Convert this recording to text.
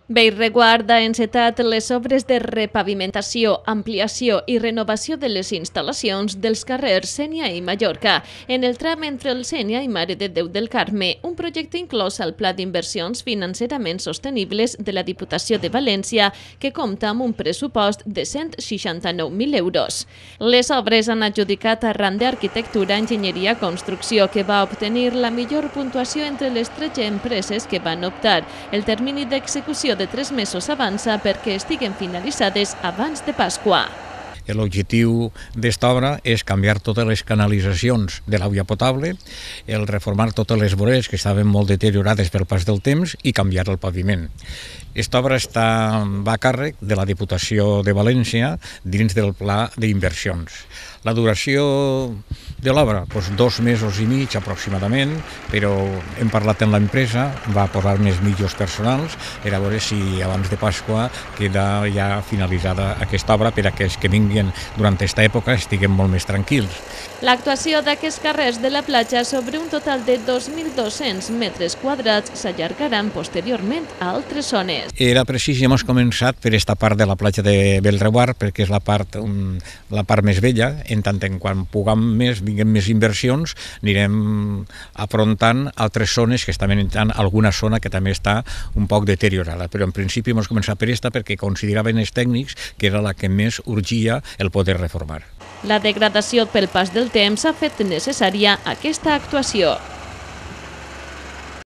Bellreguard ha encetat les obres de repavimentació, ampliació i renovació de les instal·lacions dels carrers Sénia i Mallorca, en el tram entre el Sénia i Mare de Déu del Carme, un projecte inclòs al Pla d'Inversions Financerament Sostenibles de la Diputació de València, que compta amb un pressupost de 169.000 euros. Les obres han adjudicat a RAN d'Arquitectura, Enginyeria, Construcció, que va obtenir la millor puntuació entre les 13 empreses que van optar. El termini d'execució de 3 mesos avança perquè estiguen finalitzades abans de Pasqua. L'objectiu d'esta obra és canviar totes les canalitzacions de la via potable, el reformar totes les voreres que estaven molt deteriorades pel pas del temps i canviar el paviment. Esta obra va a càrrec de la Diputació de València dins del Pla d'Inversions. La duració de l'obra, 2 mesos i mig aproximadament, però hem parlat amb l'empresa, va posar més mitjans personals per a veure si abans de Pasqua queda ja finalitzada aquesta obra per a que els que vinguin durant aquesta època estiguem molt més tranquils. L'actuació d'aquests carrers de la platja sobre un total de 2.200 metres quadrats s'allargaran posteriorment a altres zones. Era precís i hem començat per esta part de la platja de Bellreguard perquè és la part més vella, en tant en quan puguem més, vinguem més inversions, anirem afrontant altres zones que estan entrant, alguna zona que també està un poc deteriorada, però en principi hem començat per esta perquè consideraven els tècnics que era la que més urgia el poder reformar. La degradació pel pas del temps ha fet necessària aquesta actuació.